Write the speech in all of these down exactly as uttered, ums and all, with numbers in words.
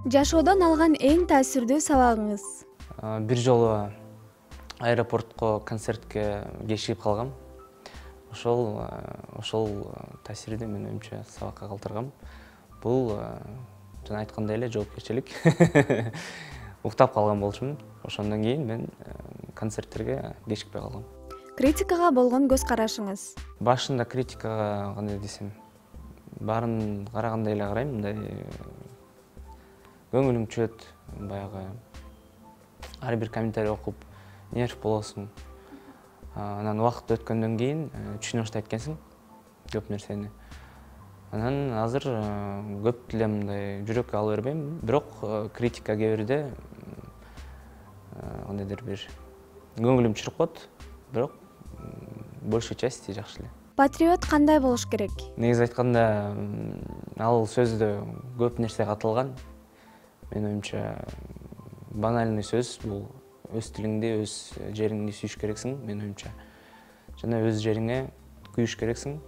Жашоодон алган эң таасирдүү сабагыңыз? Бир жолу аэропортко концертке кечигип калгам. Ошол ошол таасирди менин оюмча сабакка калтыргам. Бул жана айткандай эле жоопкерчилик. Уктап калган болчумун. Ошондон кийин мен концерттерге кечикпей калгам. Критикага болгон көз карашыңыз? Башында критикага кандай десем, баарын карагандай эле карайм, мындай көңүлүң түшөт, баягы ар бир комментарий окуп нерв болосуң. Анан убакыт өткөндөн кийин түшүнө баштайт экенсиң көп нерсени. Анан азыр көп деле мындай жүрөккө ала бербейм, бирок критика кээ бирде кандайдыр бир көңүлүм чуркап коет, бирок большая части жакшы эле. Патриот кандай болуш керек? Негизи айтканда, ал сөздө көп нерсе катылган. Менин оюмча банальный сөз бул өз тилиңди, өз жериңди сүйүш керексиң, менин оюмча. Жана өз жериңе күйүш керексиң,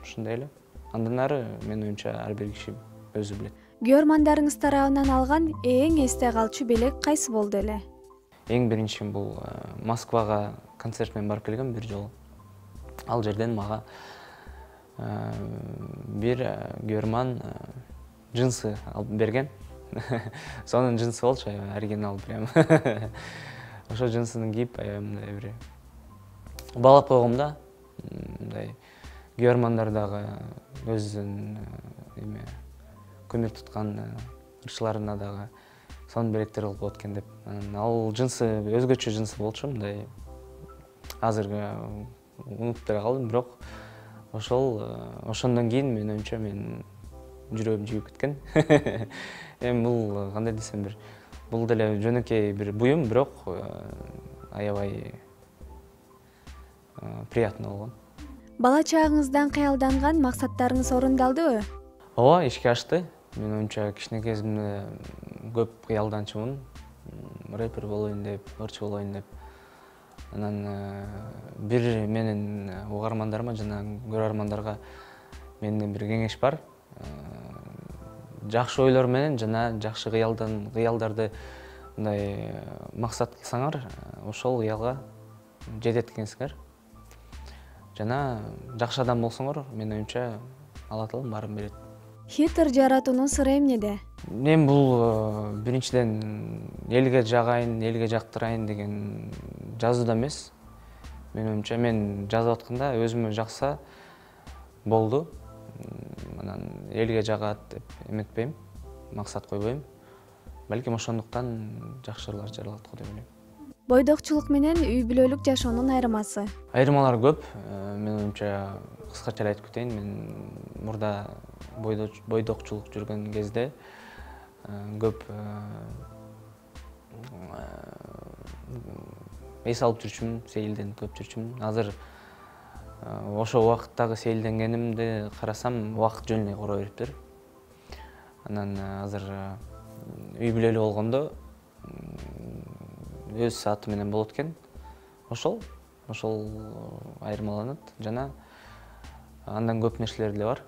ушундай эле. Андан ары менин оюмча ар бир киши өзү билет. Көрөрмандарыңыз тарабынан алган эң эсте калчу белек кайсы болду эле? Эң биринчи бул Москвага концерт менен барып келгем бир жолу. Ал жерден мага бир көрөрман джинсы алып берген. Сонун джинсы болчу, оригинал прям. Ошо джинсыны кийип, мындай бир баалап койгом да. Мындай көрөрмандар дагы өзүнүн эме көмүр туткан ырчыларына дагы сонун белектер кылып коет экен деп. Ал джинсы өзгөчө джинсы болчу, мындай азыр унутуп деле калдым, бирок ошол ошондон кийин менин оюмча менин жүрөгүм жибип кеткен. Эми бул кандай десем бир, бул деле жөнөкөй бир буюм, бирок аябай приятно болгон. Бала чагыңыздан кыялданган максаттарыңыз орундалдыбы? Ооба, ишке ашты. Менин оюмча кичине кезимде көп кыялданчумун. Рэпер болоюн деп, ырчы болоюн деп. Анан бир менин угармандарыма жана көрөрмандарга менден бир кеңеш бар. Жакшы ойлор менен жана жакшы кыялдан кыялдарды мындай максат кылсаңар, ошол кыялга жетет экенсиңер. Жана жакшы адам болсоңор, менин оюмча Алла таала баарын берет. Хит жаратуунун сыры эмнеде? Мен бул биринчиден элге жагайын, элге жактырайын деген жазууда эмес. Менин оюмча мен жазып атканда өзүмө жакса болду. Анан элге жагат деп эметпейм, максат койбойм. Балким ошондуктан жакшы ырлар жаралат го деп ойлойм. Бойдокчулук менен үй бүлөлүк жашоонун айырмасы? Айырмалар көп. Менин оюмча кыскача эле айтып кетейин. Мен мурда бойдокчулук жүргөн кезде көп эс алып жүрчүмүн, сейилденип көп жүрчүмүн. Азыр ошо убакыттагы сейилденгенимди карасам, убакыт жөн эле кора бериптир. Анан азыр үй бүлөлүү болгондо өз сааты менен болот экен. Ошол, ошол айырмаланат жана андан көп нерселер деле бар.